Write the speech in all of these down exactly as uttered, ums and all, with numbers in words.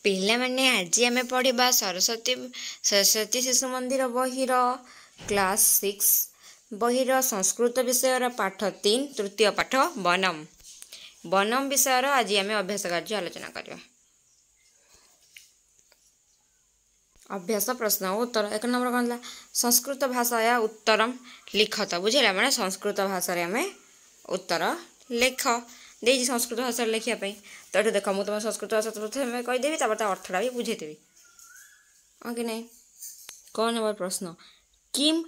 ପିଲାମାନେ, ଆଜି ଆମେ ପଢ଼ିବା ସରସ୍ୱତୀ ସରସ୍ୱତୀ ଶିଶୁ ମନ୍ଦିର ବହିର କ୍ଲାସ୍ ସିକ୍ସ ବହିର ସଂସ୍କୃତ ବିଷୟର ପାଠ ତିନି, ତୃତୀୟ ପାଠ ବନମ। ବନମ ବିଷୟର ଆଜି ଆମେ ଅଭ୍ୟାସ କାର୍ଯ୍ୟ ଆଲୋଚନା କରିବା। ଅଭ୍ୟାସ ପ୍ରଶ୍ନ ଓ ଉତ୍ତର। ଏକ ନମ୍ବର କ'ଣ ଥିଲା? ସଂସ୍କୃତ ଭାଷାୟା ଉତ୍ତରମ ଲିଖତ। ବୁଝିଲା? ମାନେ ସଂସ୍କୃତ ଭାଷାରେ ଆମେ ଉତ୍ତର ଲେଖ ଦେଇଛି, ସଂସ୍କୃତ ଭାଷାରେ ଲେଖିବା ପାଇଁ। ତ ଏଠୁ ଦେଖ, ମୁଁ ତୁମ ସଂସ୍କୃତ ଭାଷା ପ୍ରଥମେ କହିଦେବି, ତାପରେ ତା ଅର୍ଥଟା ବି ବୁଝେଇଦେବି, ହଁ କି ନାହିଁ? କ'ଣ ନମ୍ବର ପ୍ରଶ୍ନ? କିମ୍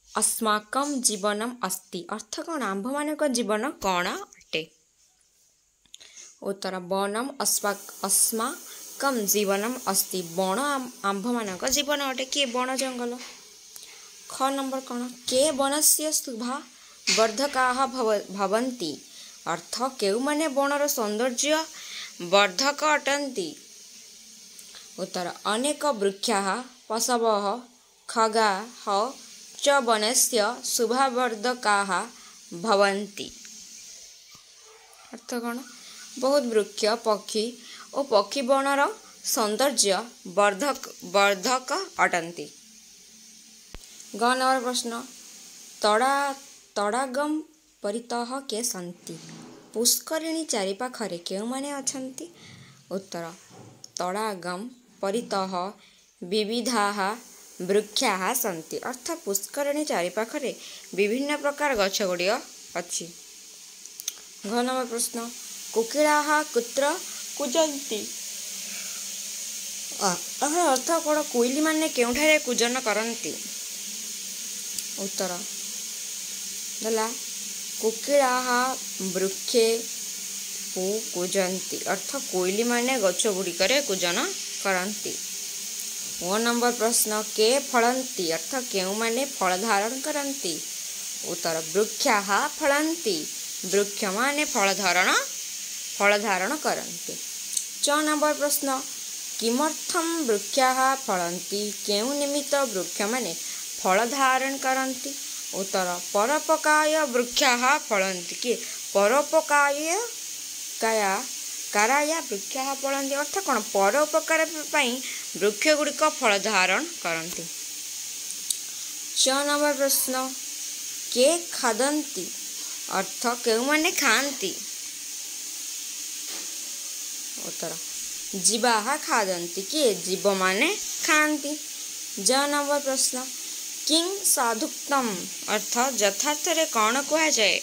ଅସ୍ମାକମ୍ ଜୀବନମ୍ ଅସ୍ତି। ଅର୍ଥ କ'ଣ? ଆମ୍ଭମାନଙ୍କ ଜୀବନ କ'ଣ ଅଟେ? ଉତ୍ତର, ବନମ୍ ଅସ୍ମାକମ୍ ଜୀବନମ୍ ଅସ୍ତି। ବଣ ଆମ୍ଭମାନଙ୍କ ଜୀବନ ଅଟେ। କିଏ? ବଣ, ଜଙ୍ଗଲ। ଖ ନମ୍ବର କ'ଣ? କେ ବନସ୍ୟ ଶୁଭା ବର୍ଦ୍ଧକାः ଭବନ୍ତି। ଅର୍ଥ କେଉଁମାନେ ବଣର ସୌନ୍ଦର୍ଯ୍ୟ ବର୍ଦ୍ଧକ ଅଟନ୍ତି? ଉତ୍ତର, ଅନେକ ବୃକ୍ଷାः ପଶବः ଖଗାः ଚ ବନସ୍ୟ ଶୁଭାବର୍ଦ୍ଧକାः ଭବନ୍ତି। ଅର୍ଥ କ'ଣ? ବହୁତ ବୃକ୍ଷ, ପକ୍ଷୀ ଓ ପକ୍ଷୀ ବଣର ସୌନ୍ଦର୍ଯ୍ୟ ବର୍ଦ୍ଧକ ବର୍ଦ୍ଧକ ଅଟନ୍ତି। ଗ ନମ୍ବର ପ୍ରଶ୍ନ, ତଡ଼ା ତଡ଼ାଗମ୍ ପରିତଃ କେ ସନ୍ତି। ପୁଷ୍କରିଣୀ ଚାରିପାଖରେ କେଉଁମାନେ ଅଛନ୍ତି? ଉତ୍ତର, ତଡ଼ାଗମ୍ ପରିତଃ ବିବିଧାः ବୃକ୍ଷାः ସନ୍ତି। ଅର୍ଥ ପୁଷ୍କରିଣୀ ଚାରିପାଖରେ ବିଭିନ୍ନ ପ୍ରକାର ଗଛ ଗୁଡ଼ିକ ଅଛି। ଘ ନମ୍ବର ପ୍ରଶ୍ନ, କୋକିଳାः କୁତ୍ର କୁଜନ୍ତି। ଏହାର ଅର୍ଥ କ'ଣ? କୋଇଲିମାନେ କେଉଁଠାରେ କୂଜନ କରନ୍ତି? ଉତ୍ତର ଦେଲା, କୋକିଳାः ବୃକ୍ଷେ କୁଜନ୍ତି। ଅର୍ଥ କୋଇଲିମାନେ ଗଛ ଗୁଡ଼ିକରେ କୂଜନ କରନ୍ତି। ଓ ନମ୍ବର ପ୍ରଶ୍ନ, କେ ଫଳନ୍ତି। ଅର୍ଥ କେଉଁମାନେ ଫଳ ଧାରଣ କରନ୍ତି? ଉତ୍ତର, ବୃକ୍ଷାः ଫଳନ୍ତି। ବୃକ୍ଷମାନେ ଫଳ ଧାରଣ ଫଳ ଧାରଣ କରନ୍ତି। ଚ ନମ୍ବର ପ୍ରଶ୍ନ, କିମର୍ଥಂ ବୃକ୍ଷାः ଫଳନ୍ତି। କେଉଁ ନିମିତ୍ତ ବୃକ୍ଷମାନେ ଫଳ ଧାରଣ କରନ୍ତି? ଉତ୍ତର, ପରୋପକାୟ ବୃକ୍ଷାः ଫଳନ୍ତି। କିଏ? ପରୋପକାୟ କାୟା କାରାୟା ବୃକ୍ଷାः ଫଳନ୍ତି। ଅର୍ଥ କ'ଣ? ପରୋପକାର ପାଇଁ ବୃକ୍ଷ ଗୁଡ଼ିକ ଫଳ ଧାରଣ କରନ୍ତି। ଚ ନମ୍ବର ପ୍ରଶ୍ନ, କେ ଖାଦନ୍ତି। ଅର୍ଥ କେଉଁମାନେ ଖାଆନ୍ତି? ଉତ୍ତର, ଜୀବାः ଖାଦନ୍ତି। କିଏ? ଜୀବମାନେ ଖାଆନ୍ତି। ଜ ନମ୍ବର ପ୍ରଶ୍ନ, କିଂ ସାଧୁକ୍ତମ୍। ଅର୍ଥ ଯଥାର୍ଥରେ କ'ଣ କୁହାଯାଏ?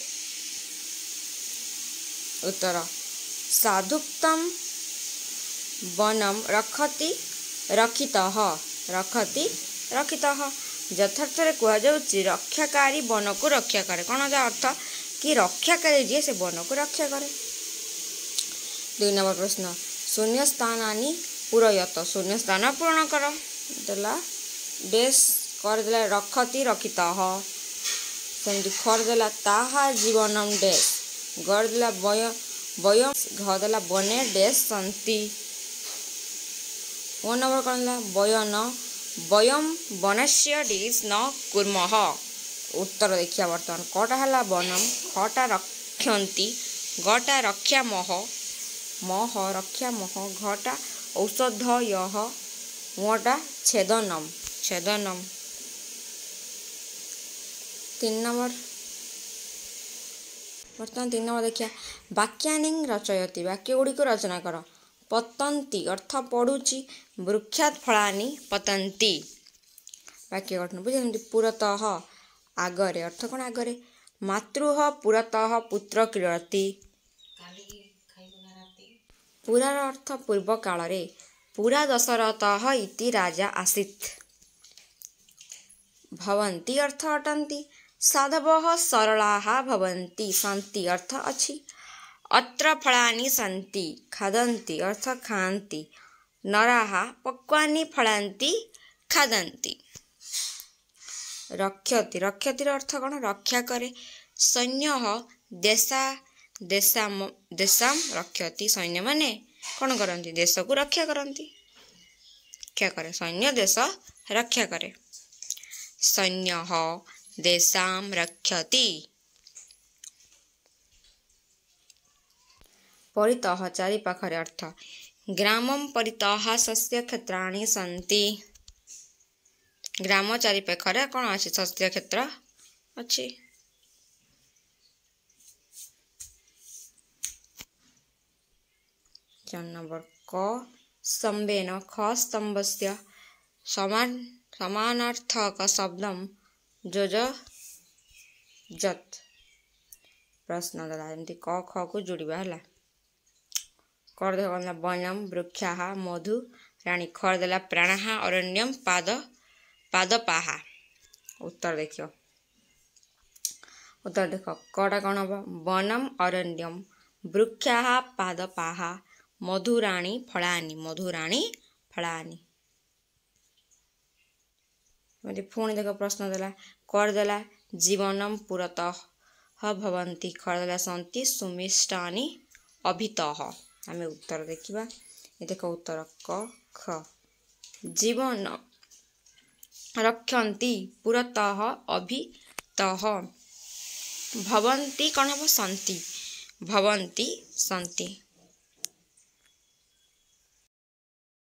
ଉତ୍ତର, ସାଧୁକ୍ତମ୍ ବନମ୍ ରଖତି ରକ୍ଷିତଃ। ରଖତି ରକ୍ଷିତଃ। ଯଥାର୍ଥରେ କୁହାଯାଉଛି ରକ୍ଷାକାରୀ ବନକୁ ରକ୍ଷା କରେ। କ'ଣ ତା ଅର୍ଥ? କି ରକ୍ଷାକାରୀ ଯିଏ ସେ ବନକୁ ରକ୍ଷା କରେ। ଦୁଇ ନମ୍ବର ପ୍ରଶ୍ନ, ଶୂନ୍ୟ ସ୍ଥାନାନି ପୂରୟତ। ଶୂନ୍ୟ ସ୍ଥାନ ପୂରଣ କର। ଦେଲା ଡେସ୍ କରିଦେଲା ରଖତି ରକ୍ଷିତଃ। ସେମିତି ଖର ଦେଲା ତାହା ଜୀବନମ୍ ଡେସ୍ ଗର ଦେଲା ବୟ ବୟ, ଘ ଦେଲା ବନେ ଡେସ୍ ସନ୍ତି। ଓ ନମ୍ବର କ'ଣ ହେଲା? ବୟନ ବୟମ୍ ବନସ୍ୟ ଡିସ୍ ନ କୁର୍ମଃ। ଉତ୍ତର ଦେଖିବା ବର୍ତ୍ତମାନ। କଟା ହେଲା ବନମ୍, ଖଟା ରକ୍ଷନ୍ତି, ଗଟା ରକ୍ଷାମହ ମହ ରକ୍ଷାମହ, ଘଟା ଔଷଧୟଃ, ଙଟା ଛେଦନମ୍ ଛେଦନମ୍। ତିନି ନମ୍ବର, ବର୍ତ୍ତମାନ ତିନି ନମ୍ବର ଦେଖିବା। ବାକ୍ୟାନି ରଚୟତି। ବାକ୍ୟ ଗୁଡ଼ିକୁ ରଚନା କର। ପତନ୍ତି ଅର୍ଥ ପଡ଼ୁଛି, ବୃକ୍ଷାତ୍ ଫଳାନି ପତନ୍ତି। ବାକ୍ୟ ଗଠନ ବୁଝିଲେ? ପୁରତଃ ଆଗରେ। ଅର୍ଥ କ'ଣ? ଆଗରେ। ମାତୃଃ ପୁରତଃ ପୁତ୍ର କ୍ରୀଡ଼ତି। ପୁରାର ଅର୍ଥ ପୂର୍ବ କାଳରେ। ପୁରା ଦଶରଥଃ ଇତି ରାଜା ଆସୀତ୍। ଭବନ୍ତି ଅର୍ଥ ଅଟନ୍ତି। ସାଧବः ସରଳାः ଭବନ୍ତି। ସନ୍ତି ଅର୍ଥ ଅଛି। ଅତ୍ର ଫଳାନି ସନ୍ତି। ଖାଦନ୍ତି ଅର୍ଥ ଖାଆନ୍ତି। ନରାः ପକ୍ୱାନି ଫଳାନ୍ତି ଖାଦନ୍ତି। ରକ୍ଷତି, ରକ୍ଷତିର ଅର୍ଥ କ'ଣ? ରକ୍ଷା କରେ। ସୈନ୍ୟଃ ଦେଶା ଦେଶାମ ଦେଶାମ ରକ୍ଷତି। ସୈନ୍ୟମାନେ କ'ଣ କରନ୍ତି? ଦେଶକୁ ରକ୍ଷା କରନ୍ତି। ରକ୍ଷା କରେ, ସୈନ୍ୟ ଦେଶ ରକ୍ଷା କରେ। ସୈନ୍ୟଃ ଦେଶାମ ରକ୍ଷତି। ପରିତଃ ଚାରିପାଖରେ ଅର୍ଥ। ଗ୍ରାମಂ ପରିତଃ ଶସ୍ୟ କ୍ଷେତ୍ରାଣି ସନ୍ତି। ଗ୍ରାମ ଚାରିପାଖରେ କ'ଣ ଅଛି? ଶସ୍ୟ କ୍ଷେତ୍ର ଅଛି। ଚାରି ନମ୍ବର, କ ସ୍ତମ୍ଭେନ ଖ ସ୍ତମ୍ଭସ୍ୟ ସମାନ ସମାନାର୍ଥକ ଶବ୍ଦಂ ଯୋଜୟତ। ପ୍ରଶ୍ନ ଦେଲା, ଏମିତି କ ଖକୁ ଯୋଡ଼ିବା ହେଲା। କର ଦେଖ କ'ଣ ହେଲା? ବନମ ବୃକ୍ଷାଃ ମଧୁ ରାଣୀ। ଖର ଦେଲା ପ୍ରାଣାଃ ଅରଣ୍ୟମ ପାଦ ପାଦପାହା। ଉତ୍ତର ଦେଖିବ, ଉତ୍ତର ଦେଖ, କଟା କ'ଣ ହବ? ବନମ ଅରଣ୍ୟମ ବୃକ୍ଷାଃ ପାଦପାହା ମଧୁରାଣୀ ଫଳାନି, ମଧୁରାଣୀ ଫଳାନି। ଏମିତି ପୁଣି ଦେଖ ପ୍ରଶ୍ନ ଦେଲା, କରିଦେଲା ଜୀବନମ ପୁରତଃ ଭବନ୍ତି। ଖରଦେଲା ସନ୍ତି ସୁମିଷ୍ଟାନି ଅଭିତଃ। ଆମେ ଉତ୍ତର ଦେଖିବା। ଏ ଦେଖ ଉତ୍ତର କ ଖ, ଜୀବନ ରକ୍ଷନ୍ତି ପୁରତଃ ଅଭିତଃ ଭବନ୍ତି, କ'ଣ ହବ? ସନ୍ତି, ଭବନ୍ତି ସନ୍ତି।